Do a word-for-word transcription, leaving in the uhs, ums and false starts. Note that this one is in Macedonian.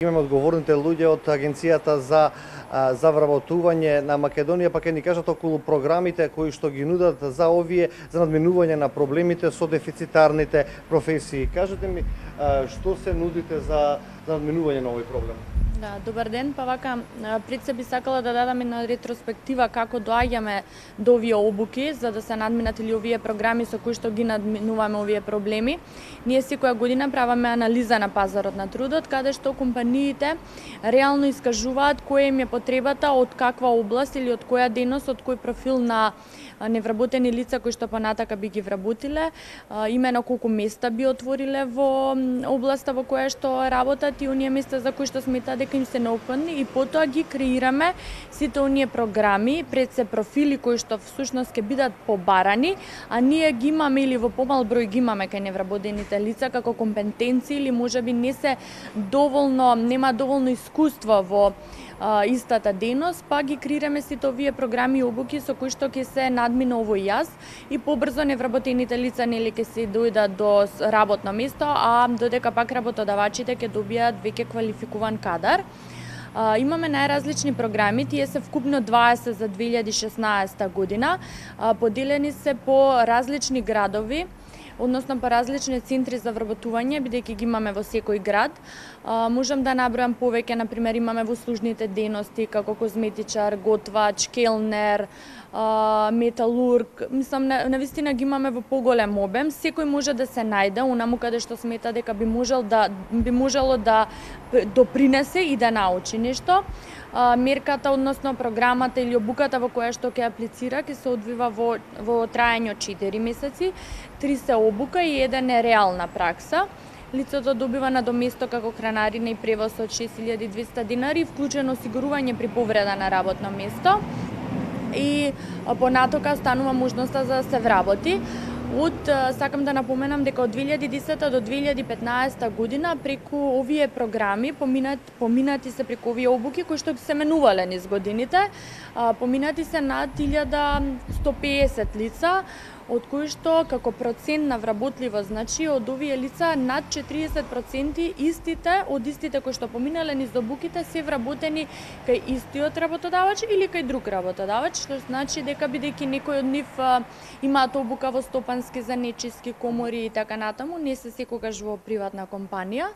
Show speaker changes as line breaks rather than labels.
Имаме одговорните луѓе од Агенцијата за за вработување на Македонија, па ќе ни кажат околу програмите кои што ги нудат за овие за надминување на проблемите со дефицитарните професии. Кажете ми што се нудите за за надминување на овој проблем?
Да, добар ден, па вака пред се би сакала да дадам една ретроспектива како доаѓаме до овие обуки за да се надминат или овие програми со кои што ги надминуваме овие проблеми. Ние секоја година правиме анализа на пазарот на трудот, каде што компаниите реално искажуваат која им е потребата од каква област или од која дејност, од кој профил на невработени лица кои што понатака би ги вработиле, имено колку места би отвориле во областа во која што работат и оние места за кои што сметаат дека им се неопходни, и потоа ги креираме сите оние програми пред се профили кои што всушност ќе бидат побарани, а ние ги имаме или во помал број ги имаме кај невработените лица како компетенции или можеби не се доволно, нема доволно искуство во а, истата дејност, па ги креираме сите овие програми и обуки со кои што ќе се надмина овој јаз и побрзо невработените лица нели ќе се дојдат до работно место, а додека пак работодавачите ќе добијат веќе квалификуван кадар. Uh, имаме најразлични програми, тие се вкупно дваесет за две илјади и шеснаесета година, uh, поделени се по различни градови, односно по различни центри за вработување, бидејќи ги имаме во секој град. Uh, можам да набројам повеќе, например имаме во услужните дејности како козметичар, готвач, келнер, uh, металург. Мислам, на, навистина ги имаме во поголем обем. Секој може да се најде онаму каде што смета дека би можел да би можело да допринесе и да научи нешто. Uh, мерката, односно програмата или обуката во која што ќе аплицира, ќе се одвива во, во траење од четири месеци. Три се обука и еден е реална пракса. Лицето добива надоместо како хранарина и превоз од шест илјади и двесте динари, вклучено осигурување при повреда на работно место. И понатока останува можноста за да се вработи. Од, сакам да напоменам дека од две илјади и десета до две илјади и петнаесета година преку овие програми поминат, поминати се преку овие обуки кои што се менувале низ годините, поминати се над илјада сто пеесет лица, од кои што како процент на вработливост, значи од овие лица над четириесет проценти истите од истите кои што поминале низ обуките се вработени кај истиот работодавач или кај друг работодавач, што значи дека бидејќи некој од нив имаат обука во стопански, занечиски, комори и така натаму, не се секогаш во приватна компанија.